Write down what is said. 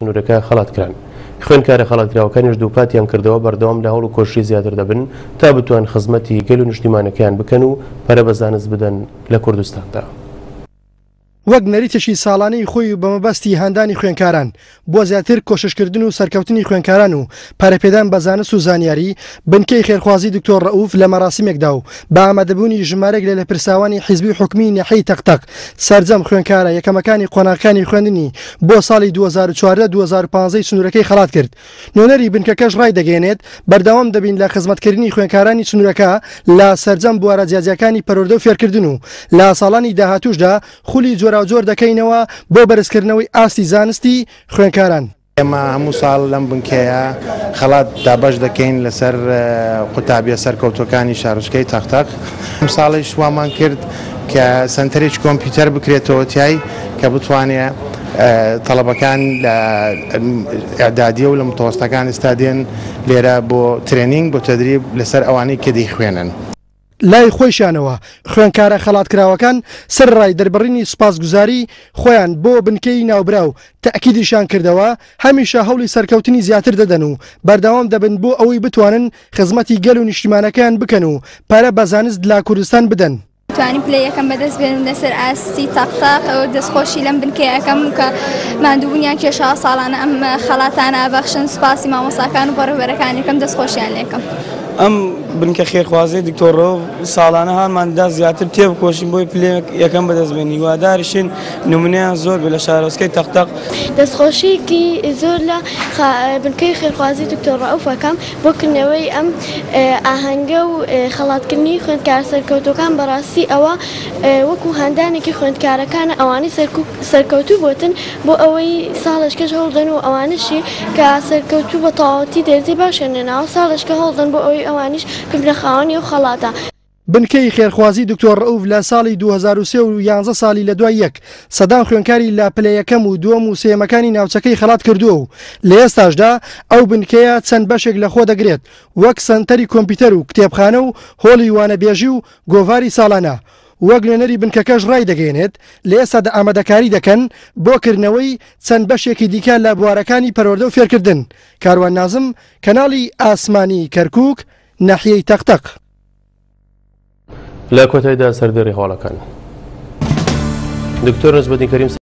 سنوورەکە خەڵات کران. خوێندکارە خەڵاتکراوەکانیش دووپاتیان کردەوە بەردەوام لە هەوڵ و کۆششی زیاتر دەبن تا بتوان خزمەتی گەل و نیشتیمانەکەیان بکەن و پەرە بە زانست بدەن لە کوردستاندا. وەک نەریتێکی ساڵانەی خۆی و بەمەبەستی هاندانی خوێندکاران بۆ زیاتر کۆششکردن و سەرکەوتنی خوێندکاران و پەرەپێدان بە زانست و زانیاری، بنکەی خێرخوازی دکتۆر ڕەئوف لە مەراسیمێکدا و بە ئامادەبوونی ژمارەیەک لە لێپرسراوانی حیزبی و حکومی ناحیەی تەقتەق سەرجەم خوێندکارە یەکەمەکانی قۆناغەکانی خوێندنی بۆ ساڵی 2014 2015 ی سنوورەکەی خەڵات کرد. نوێنەری بنکەکەش ڕایدەگەیەنێت، بەردەوام دەبین لە خزمەتکردنی خوێندکارانی سنوورەکە لە سەرجەم بوارە جیاجیاکانی پەروەردە و فێرکردن و لە ساڵانی داهاتووشدا خولی جۆراوجۆر دەکەینەوە بۆ بەرزکردنەوەی ئاستی زانستی خوێندکاران. ئێمە هەموو ساڵ لەم بنکەیە خەڵات دابەش دەکەین لەسەر قوتابیە سەرکەوتووەکانی شارۆچکەی تەقتەق، ئەمساڵیش وامان کرد کە سەنتەرێکی کۆمپیوتەر بکرێتەوە تیای کە بتوانێ تەڵەبەکان لە ئیعدادیە و لە متەوەستەکان ئێستا دێن لێرە بۆ ترێنینگ بۆ تەدریب لەسەر ئەوانەی کە دەیخوێنن. لای خۆیشیانەوە خوێندکارە خەڵاتکراوەکان سەرەڕای دەربڕینی سوپاسگوزاری خۆیان بۆ بنکەی ناوبراو تەئکیدیشیان کردەوە هەمیشە هەوڵی سەرکەوتنی زیاتر دەدەن و بەردەوام دەبن بۆ ئەوەی بتوانن خزمەتی گەل و نیشتیمانەکەیان بکەن و پەرە بە زانست لە کوردستان بدەن. توانیم پلەی یەکەم بەدەست بێنم لەسەر ئاستی تەق تەق دەستخۆشی لەم بنکەیە ئەکەم کە ماندووبوونیان کێشاوە ساڵانە ئەم خەڵاتانە ئەبەخشن سوپاسی مامۆستاکان و بەڕێوبەرەکانی ئەکەم دەستخۆشیان لێکەم. ئەم بنکە خێرخوازیەی دکتۆر ڕەوف ساڵانە هانمان دەدا زیاتر تێبکۆشین بۆی پلەی یەکەم بەدەست بێنین هیواداریشین نمونەیان زۆر بێت لە شارۆچکەی تەق تەق. دەستخۆشیەکی زۆر لە بنکەی خێرخوازی دکتۆر ڕەئوف ئەکەم بۆ کردنەوەی ئەم ئاهەنگە و خەڵاتکردنی خوێندکارە سەرکەوتووەکان بەڕاستی ئەوە وەکو هاندانێکی خوێندکارەکانە ئەوانەی سەرکەوتوو بۆتن بۆ ئەوەی ساڵێکەش هەوڵدەن و ئەوانەشی کە سەرکەوتوو بە تەواوەتی دەرجەی باشیان هێناوە ساڵێکە هەوڵدەن بۆ ئەوەی ئەوانیش ببنە خاوەنی ئەو خەڵاتە. بنکەی خێرخوازی دکتۆر ڕەئوف لە ساڵی 2003 و یانزە ساڵی لە دوای یەک سەدان خوێندکاری لە پلە یەکەم و دووەم و سێیەمەکانی ناوچەکەی خەڵات کردووە و لە ئێستاشدا ئەو بنکەیە چەند بەشێک لە خۆ دەگرێت وەک سەنتەری کۆمپیوتەر و کتێبخانە و هۆڵی وانەبێژی و گۆڤاری ساڵانە وەک نوێنەری بنکەکەش ڕایدەگەیەنێت لە ئێستادا ئامادەکاری دەکەن بۆ کردنەوەی چەند بەشێکی دیکە لە بوارەکانی پەروەردە و فێرکردن. کاروان نازم، کەناڵی ئاسمانی کەرکوک، ناحیەی تەقتەق. لە کۆتایدا سەردێڕی هەواڵەکان. دکتۆر نەجمەدین کەریم.